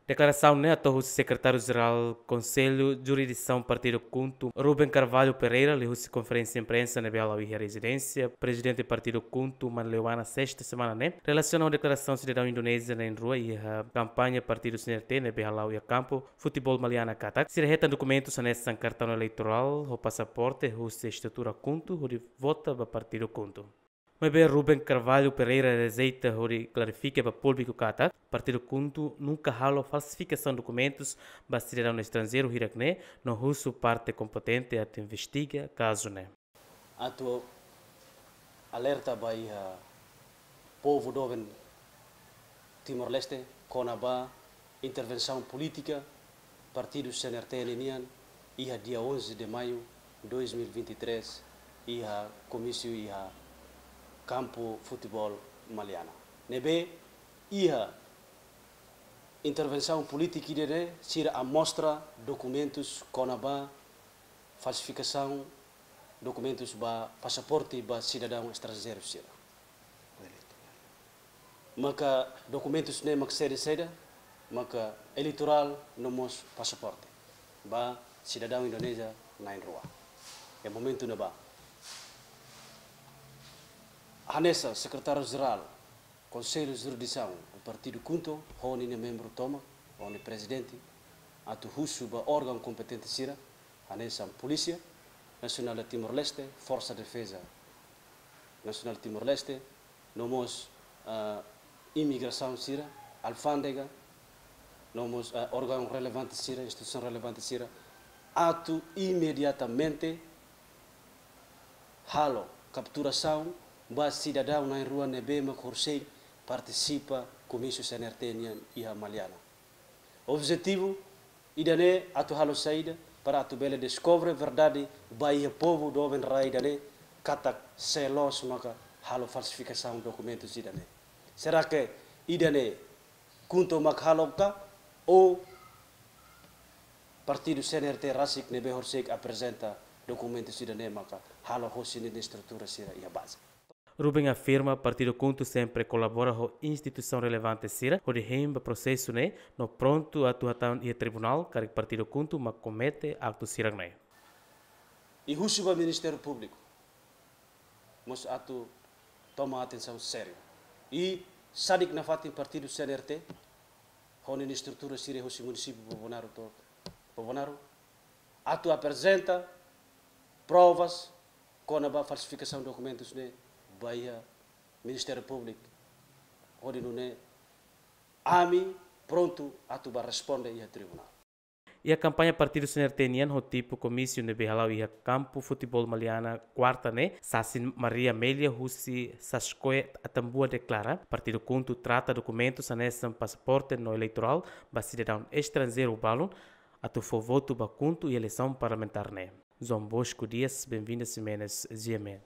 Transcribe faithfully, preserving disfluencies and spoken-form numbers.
Deklarasaun ne'e hato'o husi Sekretáriu Jerál Konsellu Jurisdisaun Partidu KHUNTO, Ruben Carvalho Pereira, liuhusi konferénsia imprensa ne'ebé hala'o iha rezidénsia Prezidente Partidu KHUNTO, Manleuana, sesta semana ne'e, relasiona ho deklarasaun sidadaun Indonézia na'in-rua iha kampaña partidu C N R T ne'ebé hala'o iha kampu futeból Maliana katak, sira hetan dokumentus hanesan kartaun eleitorál ho pasaporte husi estrutura KHUNTO hodi vota ba Partidu KHUNTO. Maibé Ruben Carvalho Pereira rejeita hodi klarifika ba públiku katak Partidu KHUNTO nunka halo falsifikasaun dokumentus ba sidadaun estranjeiru hirak-ne'e, no husu parte kompetente atu investiga kazu ne'e. Atu alerta ba iha povu doben Timor-Leste kona-ba intervensaun polítika partidu C N R T ninian iha dia onze de maio dois mil e vinte e três, iha komísiu iha kampu futeból Maliana. Ne'ebé iha intervensaun polítika ida-ne'e sira amostra dokumentus kona-ba falsifikasaun dokumentus ba pasaporte ba sidadaun estranjeiru sira. Maka dokumentus ne'e mak saida-saida, maka eleitorál no mós pasaporte ba sidadaun Indonézia na'in-rua. Iha momentu ne'ebá, hanesan Sekretáriu Jerál Konsellu Jurisdisaun Partidu KHUNTO ho ninia membru tomak, ho nia prezidente, atu husu ba órgaun kompetente sira, hanesan Polísia Nasionál de Timor-Leste, Forsa Defeza Nasionál Timor-Leste, no mós, ah, imigrasaun sira, alfándega, no mós, ah, órgaun relevante sira, instituisaun relevante sira, atu imediatamente halo kapturasaun ba sidadaun na'in-rua ne'ebé mak horisehik partisipa komísiu C N R T nian iha Maliana. Objetivu ida-ne'e atu halo saida, para atu bele deskobre verdade ba iha povu doben rai ida-ne'e katak sé loos maka halo falsifikasaun dokumentus ida-ne'e. Será que ida-ne'e KHUNTO mak halo ka, ou partidu C N R T rasik ne'ebé horisehik aprezenta dokumentus ida-ne'e maka halo hosi ninia estrutura sira iha baze? Ruben afirma Partidu KHUNTO sempre kolabora ho instituisaun relevante sira hodi hein ba prosesu ne'e, no prontu atu hatán iha tribunál karik Partidu KHUNTO mak komete aktu sira-ne'e. I husu ba Ministériu Públiku mós atu toma atensaun sériu. I sadik nafatin partidu C N R T ho ninia estrutura sira hosi munisípiu Bobonaro to'o Bobonaro atu aprezenta provas kona-ba falsifikasaun dokumentus ne'e ba iha Ministériu Públiku, hodi nune'e ami prontu atu ba responde iha tribunál. Iha kampaña partidu C N R T nian ho tipu komísiu ne'ebé hala'o iha kampu futeból Maliana kuarta ne'e, sasin Maria Amélia husi Sascoe Atambua deklara, Partidu KHUNTO trata dokumentus hanesan pasaporte no eleitorál ba sidadaun estranjeiru balun atu fó votu ba KHUNTO iha eleisaun parlamentár ne'e. João Bosco Dias, Benvinda Ximenes, G M N.